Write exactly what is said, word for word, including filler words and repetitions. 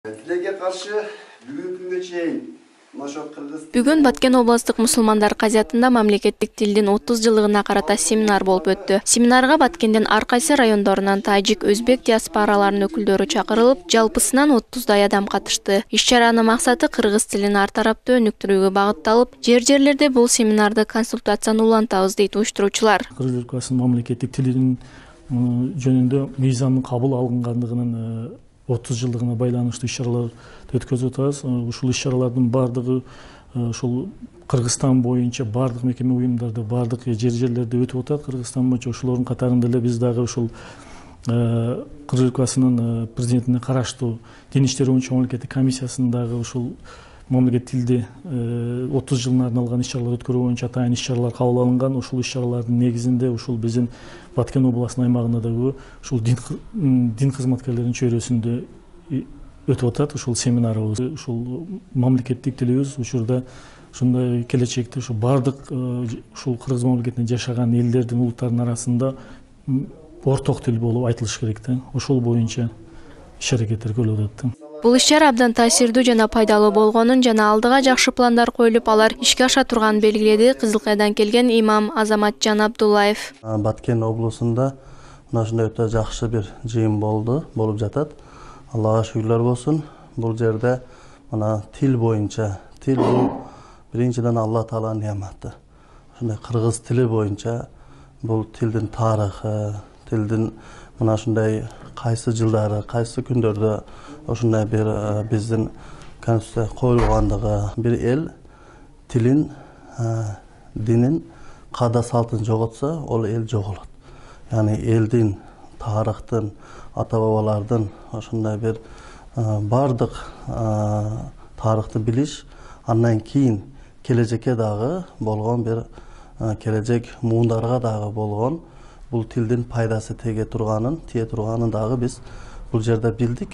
Тилерге каршы бүгүнкү күнгө чейин Бүгүн Баткен областык мусулмандар казиятында мамлекеттик тилдин отуз жылдыгына карата семинар болуп өттү. Семинарга Баткендин ар кайсы райондорунан тажик, өзбек диаспораларынын өкүлдөрү чакырылып, жалпысынан отуздай адам катышты. Иш-чаранын максаты кыргыз тилин ар тараптуу өнүктүрүүгө багытталып, жер-жерлерде бул семинарды консультацияны улантабыз дейт уюштуруучулар. Кыргыз Республикасынын мамлекеттик тилинин жөнүндө мыйзамдын кабыл алынгандыгынын отуз жылдыгына байланыштуу иш-чаралар өткөзүп атабыз. Ушул иш-чаралардын бардыгы ушул Кыргызстан боюнча бардык мекеме уюмдарда, бардык жер-жерлерде өтүп атат. Кыргызстан боюнча ошолордун катарында эле биз дагы ушул Кыргыз Республикасынын президентине караштуу Дин иштери боюнча мамлекеттик комиссиясынын дагы ушул мамлекеттик тилди отуз жылына арналган иш-чаралар өткөрүү боюнча атайын иш-чаралар кабыл алынган. Ушул иш-чаралардын негизинде ушул биздин Баткен областынын аймагында дагы ушул дин кызматкерлеринин чөйрөсүндө өтүп атат ушул семинарыбыз. Ушул мамлекеттик тилибиз учурда ушундай келечекте ушу бардык ушул кыргыз мамлекетинде жашаган элдердин, улуттардын арасында орток тил болуп айтылыш керек да. Ошол боюнча иш-аракеттер көрүлүп атат. Бул иш-чара абдан таасирдүү жана пайдалуу болгонун жана алдыга жакшы пландар коюлуп, алар ишке аша турганын белгиледи Кызылкайдан келген имам Азаматжан Абдуллаев. Баткен облусунда мына ушундай өтө жакшы бир жыйын болду, болуп жатат. Аллага шүгүрлөр болсун. Бул жерде мына тил боюнча, тил бул биринчиден Алла Тааланын неаматы. Ушундай кыргыз тили боюнча бул тилдин тарыхы, тилдин мына ушундай кайсы жылдары, кайсы күндөрдө ушундай бир биздин конституция коюлгандыгы, бир эл тилин, динин, каада салтын жоготсо, ол эл жоголот. Яны элдин, тарыхтын, ата бабалардын ошондой бир бардык тарыхты билиш, андан кийин келечекке дагы болгон бир келечек муундарга дагы болгон бул тилдин пайдасы теге турганын, тие турганын дагы биз бул жерде билдик.